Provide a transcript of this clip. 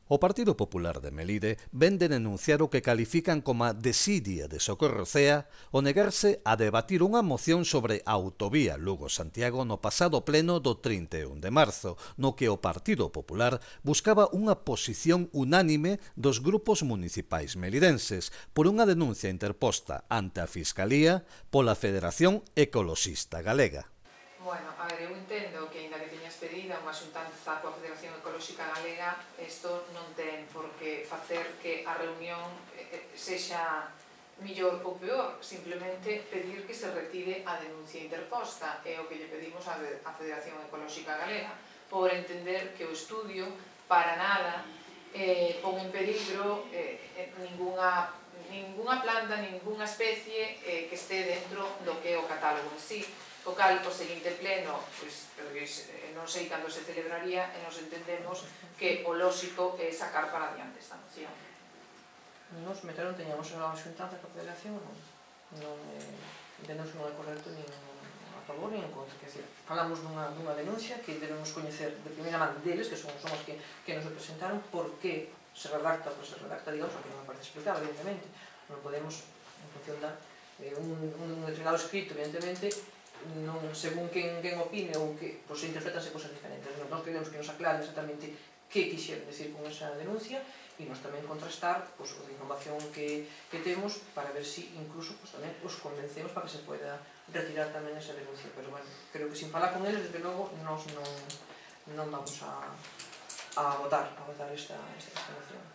O Partido Popular de Melide ven de denunciar o que califican como desidia de Socorro Cea o negarse a debatir unha moción sobre a autovía Lugo-Santiago no pasado pleno do 31 de marzo, no que o Partido Popular buscaba unha posición unánime dos grupos municipais melidenses por unha denuncia interposta ante a Fiscalía pola Federación Ecoloxista Galega. Bueno, a ver, eu entendo que, ainda que teñas pedida unha xuntanza coa Federación Ecolóxica Galega, isto non ten por que facer que a reunión sexa millor ou peor, simplemente pedir que se retire a denuncia interposta, é o que lle pedimos á Federación Ecolóxica Galega, por entender que o estudio para nada pon en peligro ningunha planta, ningunha especie que este dentro do que é o catálogo en sí. O cal, o seguinte pleno, non sei cando se celebraría, e nos entendemos que o lóxico é sacar para adiante esta moción. Nos meteron, teñamos a xuntanza coa Federación, non entendemos que non é correcto nin a favor nin en contra, que falamos dunha denuncia que debemos coñecer de primeira man deles, que son os que nos representaron, por que se redacta o que se redacta, digamos, que non me parece explicado, evidentemente, non podemos, en función de un determinado escrito, evidentemente, non según quen opine ou que se interpretanse cosas diferentes. Nós queremos que nos aclaren exactamente que quixeron decir con esa denuncia e nós tamén contrastar a información que temos para ver se incluso tamén os convencemos para que se poida retirar tamén esa denuncia. Pero, bueno, creo que sin falar con eles, desde logo, nós non vamos a votar esta moción.